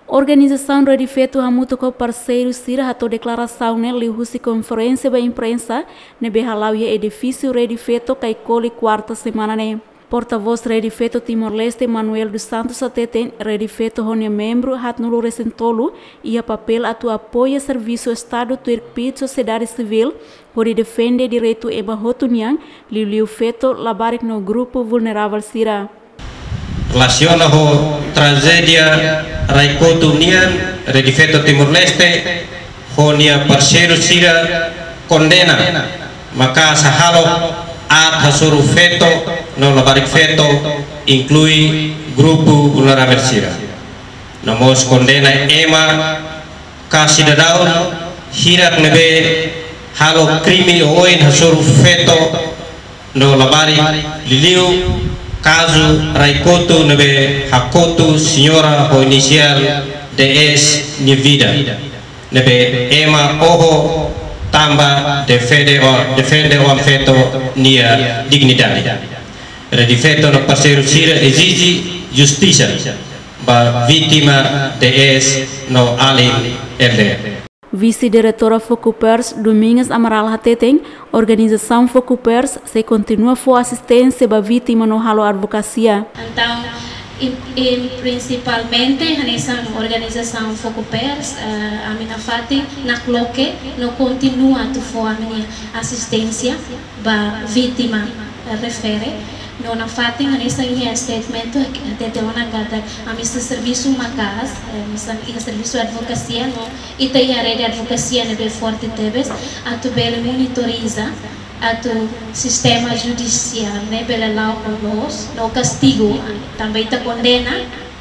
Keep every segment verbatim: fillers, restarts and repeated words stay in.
Organizasaun Rede Feto hamutuk ho parseiru sira hato'o deklarasaun ne'e liuhusi konferénsia ba imprensa ne'ebé hala'o iha edifísiu Rede Feto Kaikoli, kuarta semana ne'e. Portavós Rede Feto Timor-Leste, Manuel dos Santos, hateten Rede Feto ho nia membru haatnulu resin tolu iha papél atu apoia servisu Estadu tuir kbiit sosiedade sivíl hodi defende direitu ema hotu nian, liuliu feto, labarik no grupu vulneravel sira. Relasiona ho trajédia Rai-Kotu nian, Rede Feto Timor-Leste ho nia parseiru sira kondena maka'as hahalok aat hasoru feto no labarik feto, inklui grupu vulneravel sira. No mós kondena ema ka sidadaun hirak ne'ebé halo krime oioin hasoru feto no labarik, liuliu kazu Rai-Kotu ne'ebé hakotu señora ho inisiál D S nia vida, ne'ebé ema oho tanba defende o, defende oan-feto nia dignidade. Rede Feto no parseiru sira ezije justisa ba vítima D S no alin L D. Vise-Diretora Fokupers, Domingas Amaral, hateten organizasaun Fokupers sei kontinua fó asisténsia ba vítima no halo advokasia. Entaun, em, em, prinsipalmente, hanesan organizasaun Fokupers, eh, ami nafatin nakloke no kontinua atu fó ami-nia asisténsia ba vítima, eh, refere. No nafatin hanesan iha statement hatete ona katak ami sei servisu maka'as, eh, hanesan iha servisu advokasia no ita iha rede advokasia ne'ebé forte tebes atu bele monitoriza atu sistema judisiál ne'e bele la'o ho loos no kastigu. Tanba ita kondena,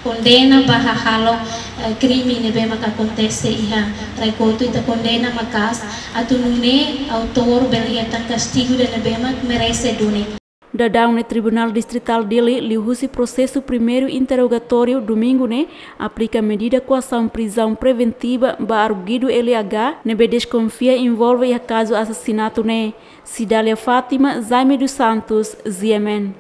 kondena ba hahalok, eh, krime ne'ebé maka akontese iha Rai-Kotu, ita kondena maka'as atu nune'e autór bele hetan kastigu ida ne'ebé mak merese duni. Daudaun ne'e Tribunál Distritál Dili liuhusi prosesu primeiru interrogatóriu domingu ne'e aplika medida koasaun prizaun preventiva ba arguidu L H ne'ebé deskonfia envolve iha kazu asasinatu ne'e. Cidália Fátima, Jaime dos Santos, G M N.